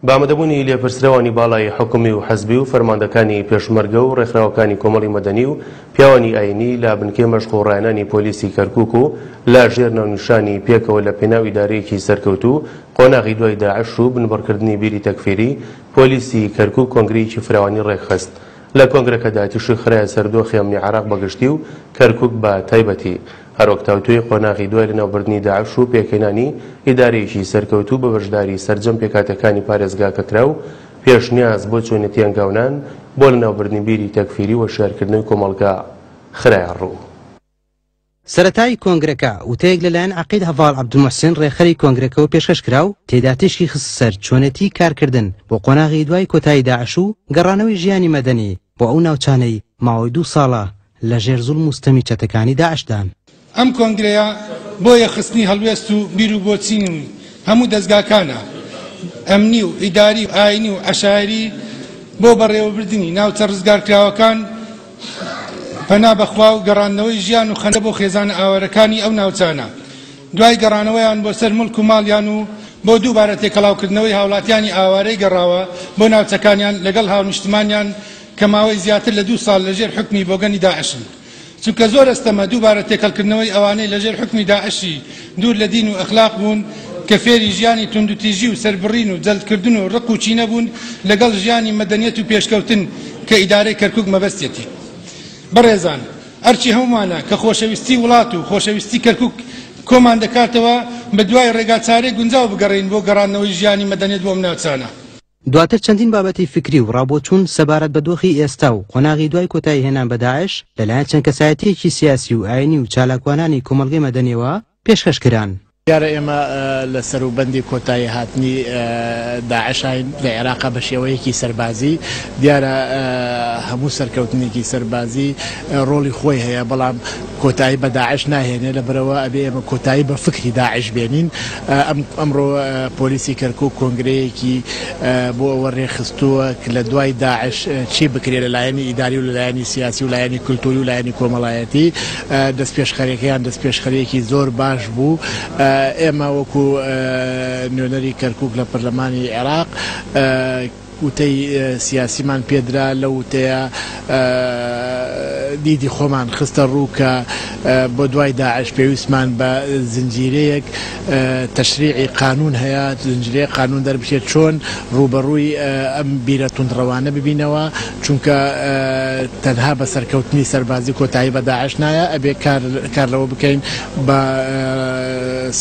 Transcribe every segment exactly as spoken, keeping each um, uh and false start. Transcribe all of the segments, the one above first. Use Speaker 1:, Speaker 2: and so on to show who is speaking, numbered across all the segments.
Speaker 1: بە ئامادەبوونی لێپرسراوانی باڵای حکومی و حزبی و فەرماندەکانی پێشمەرگە و ڕێکخراوەکانی کۆمەڵی مەدەنی و پیاوانی ئاینی لە بنکەی مەشق و ڕایەنانی پۆلیسی کەرکوک و لە ژێر ناونیشانی پێکەوە لە پێناو ئیدارەیەکی سەرکەوتوو قۆناغی دوای داعش و بنبڕکردنی بیری تەکفیری، پۆلیسی کەرکوک کۆنگرەیەکی فراوانی ڕێکخست. لە کۆنگرەکەدا تیشک خرایە سەر دۆخی ئەمنی عێراق بەگشتی و کەرکوک بە تایبەتی، هەروەک تاوتوێی قۆناغی دوای لەناوبردنی داعش و پێکهێنانی ئیدارەیەکی سەرکەوتوو بە بەشداری سەرجەم پێکهاتەکانی پارێزگاکە کرا و پێشنیاز بۆ چۆنێتی هەنگاونان بۆ لەناوبردنی بیری تەکفیری و هۆشیارکردنەوەی کۆمەڵگا خرایە ڕوو.
Speaker 2: سەرەتای کۆنگرەکە وتەیەک لەلایەن عەقید هەڤاڵ عەبدولموحسین ڕێکخەری کۆنگرەکەوە پێشکەش کرا و تێدا تیشکی خستە سەر چۆنێتی کارکردن بۆ قۆناغی دوای کۆتایی داعش و گەڕانەوەی ژیانی مەدەنی بۆ ئەو ناوچانەی ماوەی دوو ساڵە لە ژێر زوڵم و ستەمی چەتەکانی داعشدان.
Speaker 3: ئەم کۆنگرەیە بۆ یەکخستنی هەڵوێست و بیر و بۆچینی هەموو دەزگاکانە ئەمنی و ئیداری و ئاینی و عەشایری بۆ بەڕێوەبردنی ناوچە ڕزگارکراوەکان، پەنا بەخوا و گەڕاندنەوەی ژیان و خەندە بۆ خێزانە ئاوارەکانی ئەو ناوچانە دوای گەڕانەوەیان بۆ سەر مڵک و ماڵیان و بۆ دووبارە تێکەڵاوکردنەوەی هاوڵاتیانی ئاوارەی گەڕاوە بۆ ناوچەکانیان لەگەڵ هاونیشتمانیان کە ماوەی زیاتر لە دوو ساڵ لەژێر حکمی بۆگەنی داعشن. چونکە زۆر ئەستەمە دووبارە تێکەڵکردنەوەی ئەوانەی لەژێر حکمی داعشی دوور لە دین و ئەخلاق بوون کە فێری ژیانی توندوتیژی و سەربڕین و جەلدکردن و ڕق و چینە بوون لەگەڵ ژیانی مەدەنیەت و پێشکەوتن کە ئیدارەی کەرکوک مەبەستێتی. بەڕێزان، ئەرچی هەمومانە کە خۆشەویستی وڵات و خۆشەویستی کەرکوک کۆمان دەکاتەوە بە دوای ڕێگاچارەی گونجاو بگەڕین بۆ گەڕاندنەوەی ژیانی مەدەنیەت بۆ ئەم ناوچانە.
Speaker 2: دواتر چەندین بابەتی فکری و ڕابۆچوون سەبارەت بە دۆخی ئێستا و قۆناغی دوای کۆتایی هێنان بە داعش لەلایەن چەند کەسایەتیەکی سیاسی و ئاینی و چالاکوانانی کۆمەڵگەی مەدەنیەوە پێشکەش کران.
Speaker 4: دیارە ئێمە لە سەروبەندی کۆتایی هاتنی داعشین لە عێراق بە شێوەیەکی سەربازی. دیارە هەموو سەرکەوتنێکی سەربازی ڕۆڵی خۆی هەیە، بەڵام کۆتایی بە داعش ناهێنێ، لەبەرەوە ئەبێ ئێمە کۆتایی بە فکری داعش بێنین. ئەمڕۆ پۆلیسی کەرکوک کۆنگرەیەکی بۆ ئەوە ڕێکخستووە لە دوای داعش چی بکرێ لە لایەنی ئیداری و لە لایەنی سیاسی و لایەنی کولتوری و لایەنی کۆمەڵایەتی. دەستپێشخەرەکەیان دەستپێشخەرەیەکی زۆر باش بوو. ئێمە وەکو نوێنەری کەرکوک لە پەرلەمانی عێراق وتەی سیاسیمان پێدرا، لەو وتەیە دیدی خۆمان خستە ڕوو کە بۆ دوای داعش پێویستمان بە زنجیرەیەک تەشریعی قانون هەیە، زنجیرەیەک قانون دەربچێت چۆن ڕووبەڕووی ئەم بیرە توندڕەوانە ببینەوە، چونکە تەنها بە سەرکەوتنی سەربازی کۆتایی بە داعش نایە، ئەبێ کار لەوە بکەین بە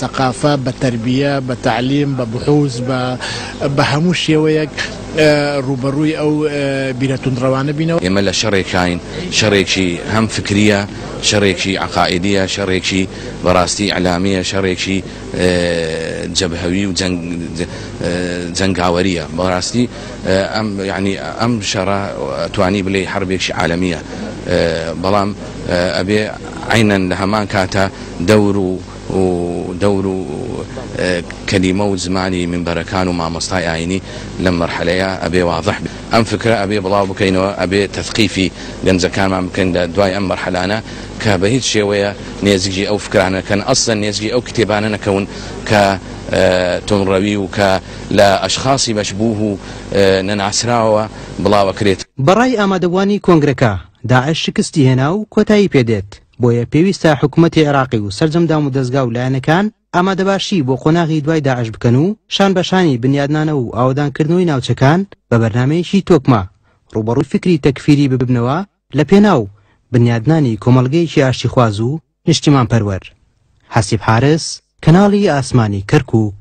Speaker 4: سەقافە، بە تەربیە، بە تەعلیم، بە بحوز، بە هەموو شێوەیەک ڕووبەڕووی ئەو بیرە توندڕەوانە بینەوە.
Speaker 5: ئێمە لە شەڕێکین، شەڕێکی هەم فکریە، شەڕێکی عەقائیدیە، شەڕێکی بەڕاستی ئیعلامیە، شەڕێکی جەبهەوی و جەنگاوەریە. بەڕاستی ئەم یعنی ئەم شەڕە توانی بلێ حربێکی عالەمیە، بەڵام ئەبێ عینەن لە هەمان کاتە دەور و دەور و کەلیمە و زمانی منبەرەکان و مامۆستای ئاینی لەم مەرحەلەیە ئەبێ واضح بێ. ئەم فکرە ئەبێ بڵاو بکەینەوە، ئەبێ تەثقیفی گەنجەکانمان بکەین لە دوای ئەم مەرحەلانە کە بە هیچ شێوەیە نێزگی ئەو فکرانەکەن، ئەسڵەن نێزگی ئەو کتێبانە نەکەون کە تونڕەوی و کە لە ئەشخاصی مەشبوه و نەناسراوە بڵاوەکرێت.
Speaker 2: بەڕای ئامادەبووانی کۆنگرەکە داعش شکستی هێنا و کۆتایی پێدێت، بۆیە پێویستە حکوومەتی عێراقی و سەرجەم دام و دەزگا و لایەنەکان ئامادەباشی بۆ قۆناغی دوای داعش بکەن و شان بەشانی بنیادنانەوە و ئاوەدانکردنەوەی ناوچەکان بە بەرنامەیەکی تۆکمە ڕووبەڕووی فکری تەکفیری ببنەوە لە پێناو بنیادنانی کۆمەڵگەیەکی ئاشتیخواز و نیشتیمان پەروەر. حەسیب حارس، کەناڵی ئاسمانی کەرکوک.